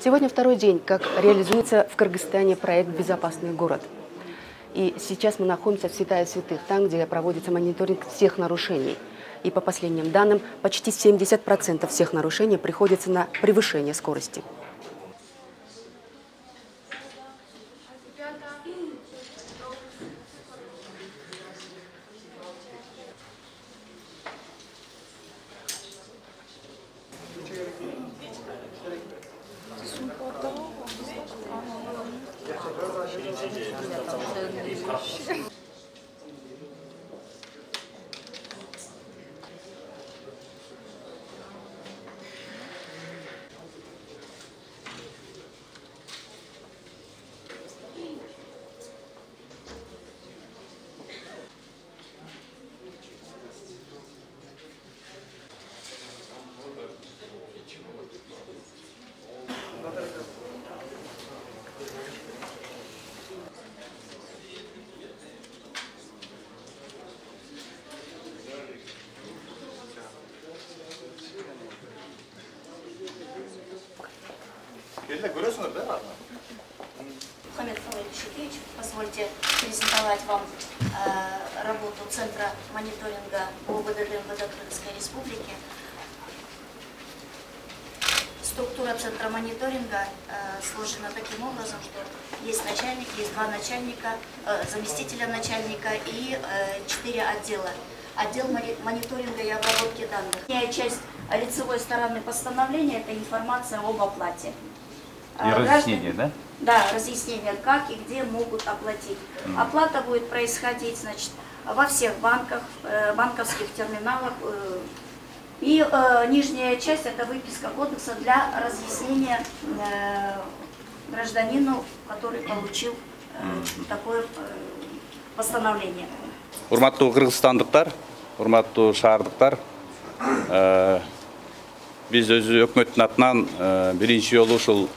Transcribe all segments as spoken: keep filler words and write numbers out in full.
Сегодня второй день, как реализуется в Кыргызстане проект «Безопасный город». И сейчас мы находимся в святая святых, там, где проводится мониторинг всех нарушений. И по последним данным, почти семьдесят процентов всех нарушений приходится на превышение скорости. Мухаммед Шукевич, позвольте презентовать вам э, работу Центра мониторинга ОВД МВД Кыргызской Республики. Структура Центра мониторинга э, сложена таким образом, что есть начальник, есть два начальника, э, заместителя начальника и э, четыре отдела. Отдел мониторинга и обработки данных. Часть лицевой стороны постановления – это информация об оплате. И разъяснение, да? Да, разъяснение, как и где могут оплатить. Mm. Оплата будет происходить, значит, во всех банках, э, банковских терминалах. Э, и э, нижняя часть – это выписка кодекса для разъяснения э, гражданину, который получил э, mm. такое э, постановление. Урматтуу кыргызстандыктар, урматтуу шаардыктар, э, биз өзү өкмөттүн атынан э, биринчи жолу ушул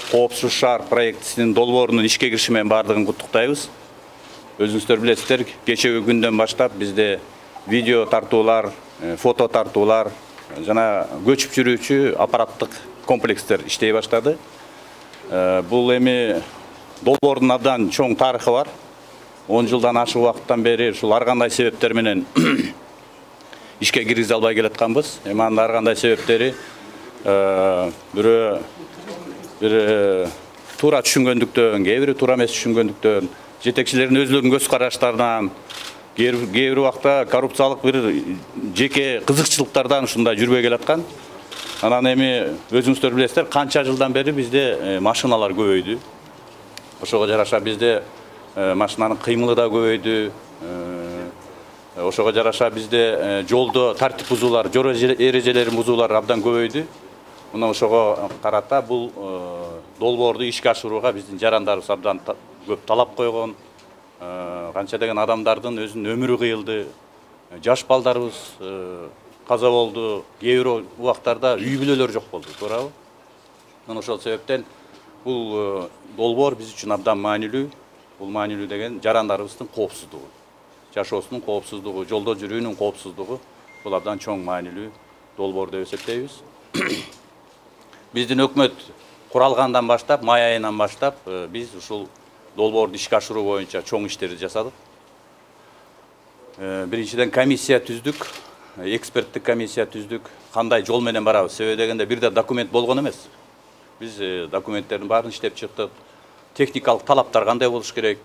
Коопсуз шаар проектисинин долбоорунун ишке кириши менен баардыгын куттуктайбыз. Өзүңүздөр билесиздер, кечеги күндөн баштап бизде видео тартуулар, фото тартуулар жана көчүп жүрүүчү аппараттык комплекстер иштей баштады. Бул эми долбоордун абдан чоң тарыхы бар. он жылдан ашык убакыттан бери ушул ар кандай себептер менен ишке киргизе албай келатканбыз. Эми анын ар кандай себептери бирөө бир туура түшүнгөндүктөн, кээ бири туура эмес түшүнгөндүктөн, жетекчилердин өзлөрүнүн көз караштарынан, кээ бир убакта коррупциялык бир жеке кызыкчылыктардан ушундай жүрбөй келаткан. Анан эми өзүңүздөр билесиздер, канча жылдан бери бизде машиналар көбөйдү. Ошого жараша бизде машинанын кыймылы да көбөйдү. Ошого жараша бизде жолдо тартип бузуулар, жол эрежелерин бузуулар абдан көбөйдү. Мына ошого карата бул долбоорду ишке ашырууга биздин жарандарыбыз абдан көп талап койгон. Канча деген адамдардын өзүнүн өмүрү кыйылды. Жаш балдарыбыз каза болду. Кээ бир убактарда үй бүлөлөр жок болду, туурабы? Мына ошол себептен бул долбоор биз үчүн абдан маанилүү. Бул маанилүү деген жарандарыбыздын коопсуздугу, жашоосунун коопсуздугу, жолдо жүрүүнүн коопсуздугу бул абдан чоң маанилүү долбоор деп эсептейбиз. Биздин өкмөт куралгандан баштап, май айынан баштап биз ушул долбоорду ишке ашыруу боюнча чоң иштерди жасадык. Биринчиден комиссия түздүк, эксперттик комиссия түздүк. Кандай жол менен барабыз? Себеби дегенде бир да документ болгон эмес. Биз документтердин баарын иштеп чыктык. Техникалык талаптар кандай болуш керек?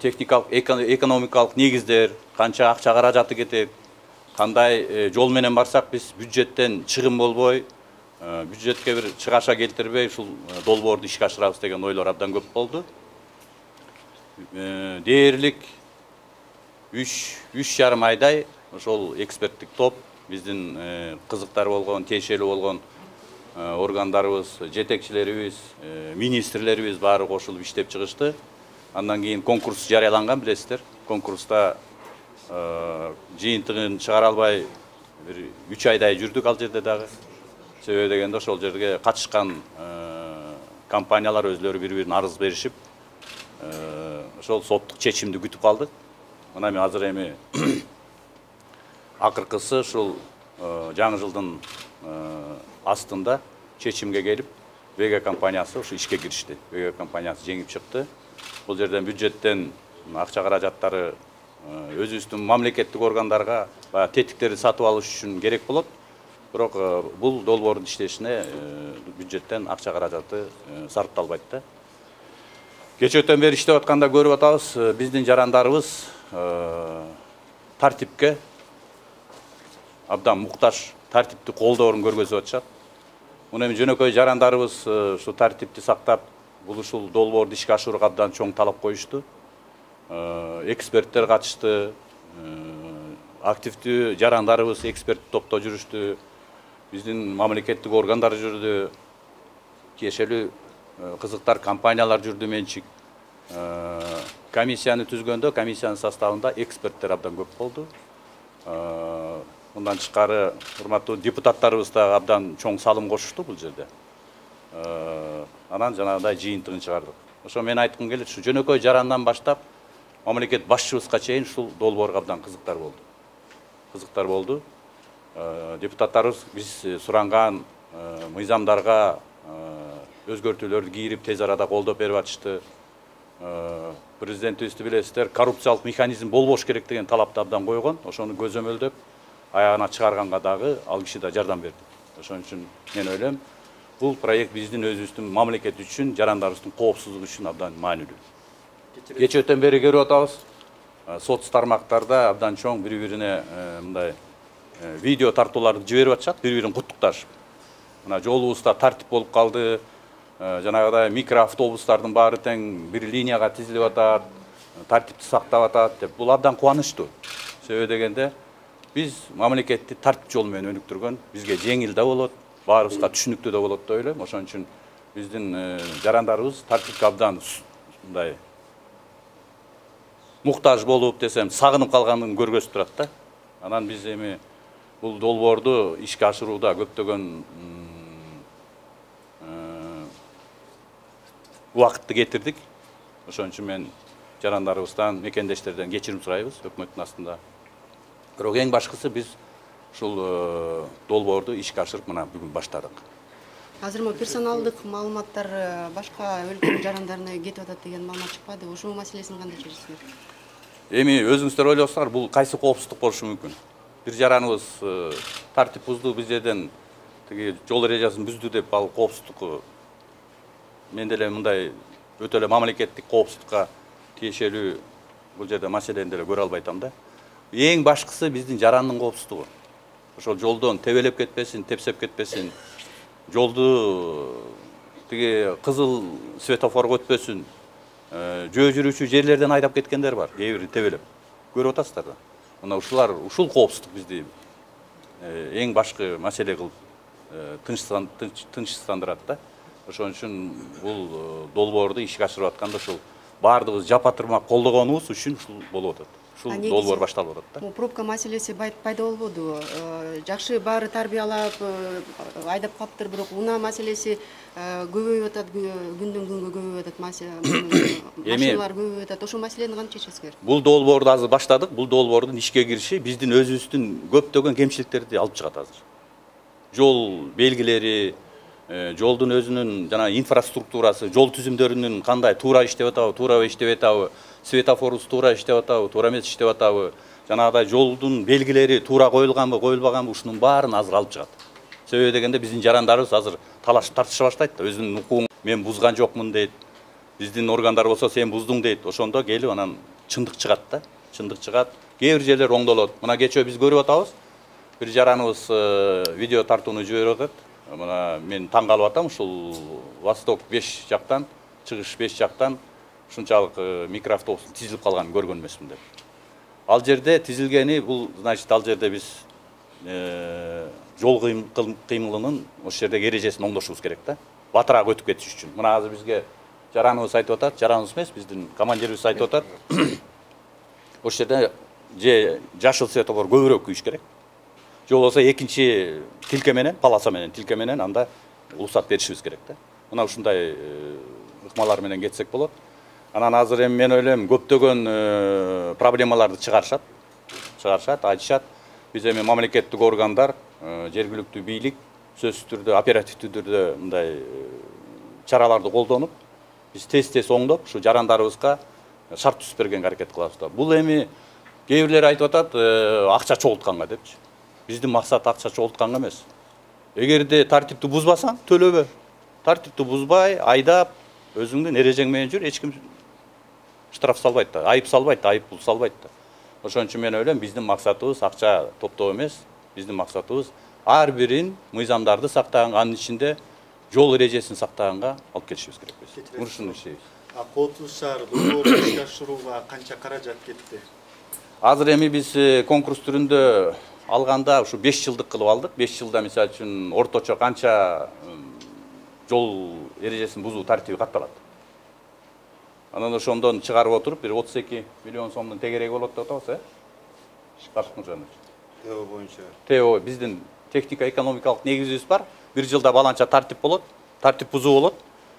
Техникалык, экономикалык негиздер, канча акча каражаты кетет? Кандай жол менен барсак биз бюджеттен чыгым болбой, бюджетке бир чыгаша келтирбей ушул долбоорду ишке ашырабыз деген ойлор абдан көп болду. Дээрлик үч жарым айдай ошол эксперттик топ биздин кызыктар болгон, тиешелүү болгон органдарыбыз, жетекчилерибиз, министрлерибиз баары кошулуп иштеп чыгышты. Андан кийин конкурс жарыяланган, билесиздер. Конкурста жыйынтыгын чыгара албай бир үч айдай жүрдүк ал жерде дагы. Себеби дегенде ошол жерге катышкан компаниялар өзлөрү бири-бирин арыз беришип, ошол соттук чечимди күтүп калдык. Мына эми азыр эми акыркысы ушул жаңы жылдын астында чечимге келип, ВГ компаниясы ушу ишке киришти. ВГ компаниясы жеңип чыкты. Бул жерден бюджеттен акча каражаттары өзүбүздүн мамлекеттик органдарга баягы тетиктерди сатып алыш үчүн керек болот. Бирок бул долбоордун иштешине бюджеттен акча каражаты сарпталбайт да. Кечөөтөн бери иштеп атканда көрүп атабыз, биздин жарандарыбыз тартипке абдан муктаж, тартипти колдоорун көргөзүп атышат. Муну эми жөнөкөй жарандарыбыз ушу тартипти сактап, бул ушул долбоорду ишке ашырууга абдан чоң талап коюшту. Эксперттер катышты, активдүү жарандарыбыз эксперт топто жүрүштү, биздин мамлекеттик органдар жүрдү, тиешелүү кызыктар компаниялар жүрдү менчик. Комиссияны түзгөндө комиссиянын составында эксперттер абдан көп болду. Мындан тышкары урматтуу депутаттарыбыз да абдан чоң салым кошушту бул жерде. Анан жанагындай жыйынтыгын чыгардык. Ошо мен айткым келет, ушу жөнөкөй жарандан баштап мамлекет башчыбызга чейин ушул долбоорго абдан кызыктар болду. Кызыктар болду. Депутаттарыбыз биз суранган мыйзамдарга өзгөртүүлөрдү кийирип тез арада колдоп берип атышты. Президентибизди билесиздер, коррупциялык механизм болбош керек деген талапты абдан койгон. Ошону көзөмөлдөп аягына чыгарганга дагы ал киши да жардам берди. Ошон үчүн мен ойлойм, бул проект биздин өзүбүздүн мамлекет үчүн, жарандарыбыздын коопсуздугу үчүн абдан маанилүү. Кечөөтөн бери көрүп атабыз, соц тармактарда абдан чоң бири-бирине мындай видео тартууларды жиберип атышат, бири-бирин куттукташып. Мына жолубузда тартип болуп калды, жанагыдай микроавтобустардын баары тең бир линияга тизилип атат, тартипти сактап атат деп. Бул абдан кубанычтуу. Себеби дегенде биз мамлекетти тартип жол менен өнүктүргөн, бизге жеңил да болот, баарыбызга түшүнүктүү да болот деп ойлойм. Ошон үчүн биздин жарандарыбыз тартипке абдан мындай муктаж болуп десем, сагынып калганын көргөзүп турат да. Анан биз эми бул долбоорду ишке ашырууда көптөгөн убакытты кетирдик. Ошон үчүн мен жарандарыбыздан, мекендештерден кечирим сурайбыз өкмөттүн астында. Бирок эң башкысы биз ушул долбоорду ишке ашырып мына бүгүн баштадык. Азыр мо персоналдык маалыматтар башка өлкөнүн жарандарына кетип атат деген маалымат чыкпады. Ушул маселесин кандай чечесиңер? Эми өзүңүздөр ойлосоңор, бул кайсы коопсуздук болушу мүмкүн? Бир жараныбыз тартип бузду, биз жерден тиги жол эрежесин бүздү деп ал коопсуздук мен деле мындай өтө эле мамлекеттик коопсуздукка тиешелүү бул жерде маселени деле көрө албайтам да. Эң башкысы биздин жарандын коопсуздугу. Ошол жолдон тебелеп кетпесин, тепсеп кетпесин, жолду тиги кызыл светофорго өтпөсүн, жөө жүрүүчү жерлерден айдап кеткендер бар, кээ бири тебелеп. Көрүп атасыздар да. Мына ушулар, ушул коопсуздук бизди эң башкы маселе кылып тынчсыздандырат да. Ошон үчүн бул долбоорду ишке ашырып атканда ушул баардыгыбыз жапа тырмак колдогонубуз үчүн ушул болуп атат. Ушул долбоор башталып атат да. Бул пробка маселеси пайда болбоду. Жакшы баары тарбиялап айдап калыптыр, бирок унаа маселеси көбөйүп атат, күндөн күнгө көбөйүп атат, машиналар көбөйүп атат. Ошол маселени кантип чечесиңер? Бул долбоорду азыр баштадык. Бул долбоордун ишке кириши биздин өзүбүздүн көптөгөн кемчиликтерди алып чыгат азыр. Жол белгилери, жолдун өзүнүн жана инфраструктурасы, жол түзүмдөрүнүн кандай туура иштеп атабы, туура иштебей атабы, светофорубуз туура иштеп атабы, туура эмес иштеп атабы, жанагыдай жолдун белгилери туура коюлганбы, коюлбаганбы, ушунун баарын азыр алып чыгат. Себеби дегенде биздин жарандарыбыз азыр талашып тартыша баштайт да, өзүнүн укугун мен бузган жокмун дейт. Биздин органдар болсо сен буздуң дейт. Ошондо келип анан чындык чыгат да. Чындык чыгат. Кээ бир жерлер оңдолот. Мына кечөө биз көрүп атабыз. Бир жараныбыз видео тартууну жиберип атат. Мына мен таң калып атам, ушул Восток беш жактан, чыгыш беш жактан ушунчалык микроавтобустун тизилип калганын көргөн эмесмин деп. Ал жерде тизилгени бул, значит, ал жерде биз жол кыймылынын ошол жердеги эрежесин оңдошубуз керек да. Батыраак өтүп кетиш үчүн. Мына азыр бизге жараныбыз айтып атат, жараныбыз эмес, биздин командирибиз айтып атат. Ошол жерде же жашыл светофор көбүрөөк күйүш керек. Же болбосо экинчи тилке менен, полоса менен, тилке менен анда уруксат беришибиз керек да. Мына ушундай ыкмалар менен кетсек болот. Анан азыр эми мен ойлойм, көптөгөн проблемаларды чыгарышат. Чыгарышат, айтышат. Биз эми мамлекеттик органдар, жергиликтүү бийлик сөзсүз түрдө, оперативдүү түрдө мындай чараларды колдонуп, биз тез-тез оңдоп, ушу жарандарыбызга шарт түзүп бергенге аракет кылабыз да. Бул эми кээ бирлер айтып атат, акча чогултканга депчи. Биздин максат акча чогултканга эмес. Эгерде тартипти бузбасаң, төлөбө. Тартипти бузбай, айдап, өзүңдүн эрежең менен жүр, эч ким штраф салбайт да, айып салбайт, айып пул салбайт да. Ошон үчүн мен ойлойм, биздин максатыбыз акча топтоо эмес, биздин максатыбыз ар бирин мыйзамдарды сактаганга, анын ичинде жол эрежесин сактаганга алып келишибиз керек биз. Ушуну иштейбиз. А Коопсуз шаар долбоорду ишке ашырууга канча каражат кетти? Азыр эми биз конкурс түрүндө алганда ушу беш жылдык кылып алдык. беш жылда мисалы үчүн орточо канча жол эрежесин бузуу тартиби катталат. Анан ошондон чыгарып отуруп бир отуз эки миллион сомдун тегереги болот деп атабыз, э? Шикардык Мырзанович. ТЭО боюнча. ТЭО биздин технико-экономикалык негизибиз бар. Бир жылда баланча тартип болот, тартип бузуу болот.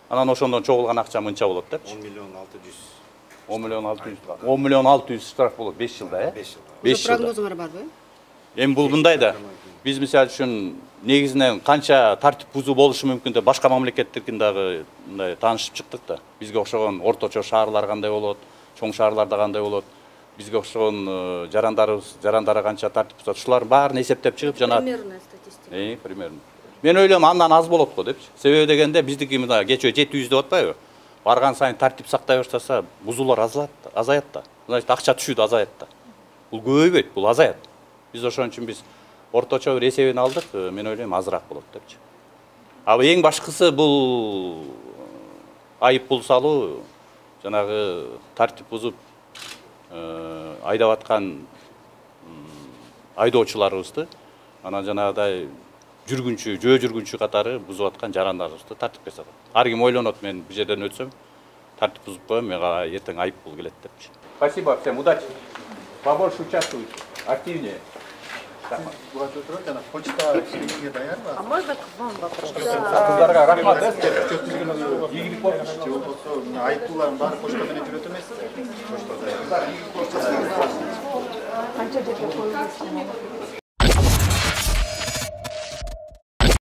Анан ошондон чогулган акча мынча болот депчи. он миллион алты жүз. он миллион алты жүз. он миллион алты жүз штраф болот беш жылда, э? беш жылда. беш жылда. Прогнозуңар барбы? Эми бул мындай да. Биз мисалы үчүн негизинен канча тартип бузуу болушу мүмкүн деп башка мамлекеттердин дагы мындай таанышып чыктык да. Бизге окшогон орточо шаарлар кандай болот, чоң шаарларда кандай болот, бизге окшогон жарандарыбыз, жарандары канча тартип бузат, ушулардын баарын эсептеп чыгып жана Примерная статистика. Э, примерно. Мен ойлойм андан аз болот го депчи. Себеби дегенде биздики мына кечөө жети жүз деп атпайбы? Барган сайын тартип сактай баштаса, бузуулар азаят, азаят да. Значит, акча түшүт азаят да. Бул көбөйбөйт, бул азаят. Биз ошон үчүн биз орточо бир эсебин алдык, мен ойлойм азыраак болот депчи. А эң башкысы бул айып пул салуу, жанагы тартип бузуп айдап аткан айдоочуларыбызды, анан жанагыдай жүргүнчү, жөө жүргүнчү катары бузуп аткан жарандарыбызды тартипке салат. Ар ким ойлонот, мен бул жерден өтсөм, тартип бузуп коем, мага эртең айып пул келет депчи. Спасибо всем, удачи. Побольше участвуйте, активнее. Почта иштегенге даярбы? А можно к вам вопрос? Кыздарга рахмат, э, ийгилик болсун. Же болбосо мына айыптуулардын баары почта менен жүрөт эмеспи? Почта даяр. Канча жерде коюлушу?